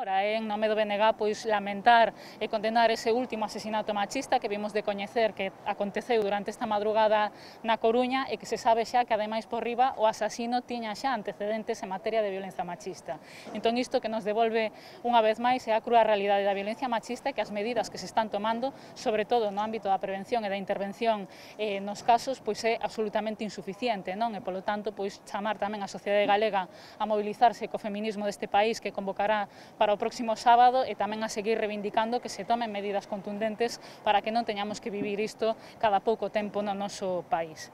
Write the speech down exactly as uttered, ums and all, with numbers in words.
Agora, en nome do B N G, pois lamentar e condenar ese último asesinato machista que vimos de coñecer que aconteceu durante esta madrugada na Coruña e que se sabe xa que, ademais, por riba, o asasino tiña xa antecedentes en materia de violencia machista. Entón, isto que nos devolve unha vez máis é a crúa realidade da violencia machista e que as medidas que se están tomando, sobre todo no ámbito da prevención e da intervención eh, nos casos, pois é absolutamente insuficiente, non? E, polo tanto, pois chamar tamén a sociedade galega a mobilizarse co feminismo deste país que convocará para o próximo sábado e tamén a seguir reivindicando que se tomen medidas contundentes para que non teñamos que vivir isto cada pouco tempo no noso país.